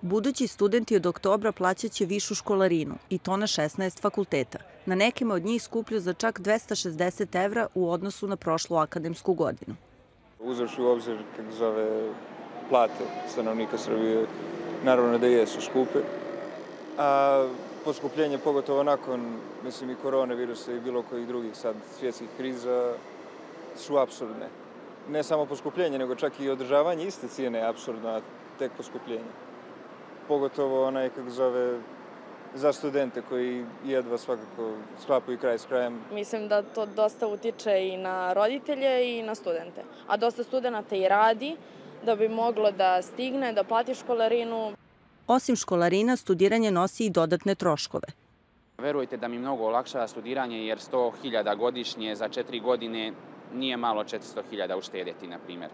Budući studenti od oktobra plaćaće višu školarinu i to na 16 fakulteta. Na nekima od njih skuplju za čak 260 evra u odnosu na prošlu akademsku godinu. Uzevši u obzir plate stanovnika Srbije, naravno da jesu skupe. A poskupljenje, pogotovo nakon i koronavirusa i bilo kojih drugih sad svjetskih kriza, su apsurdne. Ne samo poskupljenje, nego čak i održavanje iste cijene je apsurdno, a tek poskupljenje. Pogotovo za studente koji jedva svakako sklapaju kraj s krajem. Mislim da to dosta utiče i na roditelje i na studente. A dosta studenta i radi da bi moglo da stigne, da plati školarinu. Osim školarina, studiranje nosi i dodatne troškove. Verujte da mi mnogo olakšava studiranje jer 100.000 godišnje za 4 godine nije malo 400.000 uštedjeti, na primjer.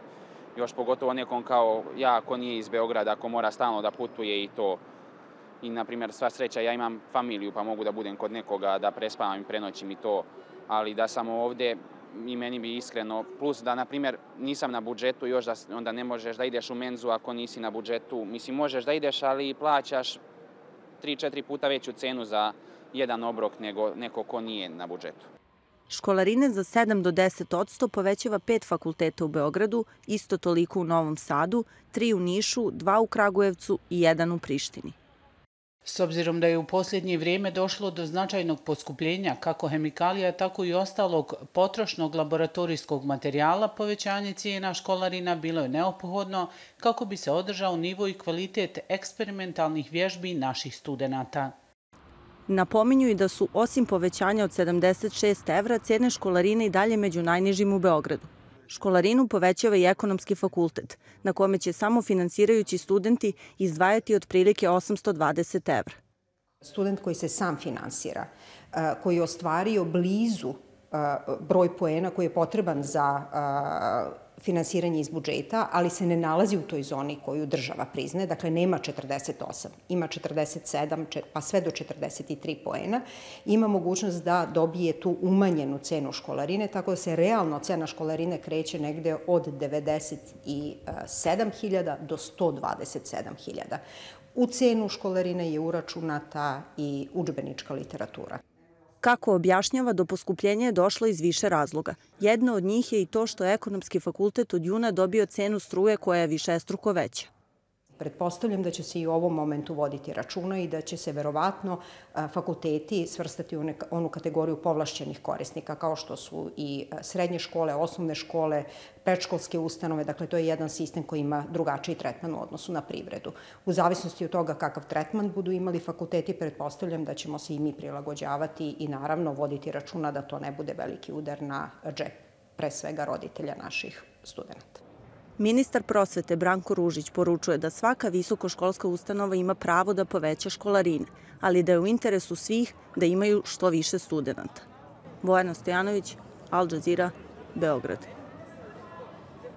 Još pogotovo nekom kao ja, ko nije iz Beograda, ko mora stalno da putuje i to. I, na primjer, sva sreća, ja imam familiju pa mogu da budem kod nekoga, da prespavam i prenoćim i to. Ali da sam ovdje, i meni bi iskreno, plus da, na primjer, nisam na budžetu, još da onda ne možeš da ideš u menzu ako nisi na budžetu. Mislim, možeš da ideš, ali plaćaš 3-4 puta veću cenu za jedan obrok nego neko ko nije na budžetu. Školarine za 7 do 10% povećava 5 fakulteta u Beogradu, isto toliko u Novom Sadu, 3 u Nišu, 2 u Kragujevcu i 1 u Prištini. S obzirom da je u posljednje vrijeme došlo do značajnog poskupljenja kako hemikalija, tako i ostalog potrošnog laboratorijskog materijala, povećanje cijena školarina bilo je neophodno kako bi se održao nivo i kvalitet eksperimentalnih vježbi naših studenata. Napominju i da su, osim povećanja od 76 evra, cijene školarine i dalje među najnižim u Beogradu. Školarinu povećava i ekonomski fakultet, na kome će samo finansirajući studenti izdvajati otprilike 820 evra. Student koji se sam finansira, koji je ostvario blizu broj poena koji je potreban za finansiranje iz budžeta, ali se ne nalazi u toj zoni koju država priznaje, dakle nema 48, ima 47, pa sve do 43 poena, ima mogućnost da dobije tu umanjenu cenu školarine, tako da se realno cena školarine kreće negde od 97.000 do 127.000. U cenu školarine je uračunata i udžbenička literatura. Kako objašnjava, do poskupljenja je došlo iz više razloga. Jedna od njih je i to što je ekonomski fakultet od juna dobio cenu struje koja je višestruko veća. Pretpostavljam da će se i u ovom momentu voditi računa i da će se verovatno fakulteti svrstati u onu kategoriju povlašćenih korisnika, kao što su i srednje škole, osnovne škole, predškolske ustanove. Dakle, to je jedan sistem koji ima drugačiji tretman u odnosu na privredu. U zavisnosti od toga kakav tretman budu imali fakulteti, pretpostavljam da ćemo se i mi prilagođavati i naravno voditi računa da to ne bude veliki udar na džep, pre svega roditelja naših studenta. Ministar prosvete Branko Ružić poručuje da svaka visokoškolska ustanova ima pravo da poveća školarine, ali da je u interesu svih da imaju što više studenata. Bojana Stojanović, Al Jazeera, Beograd.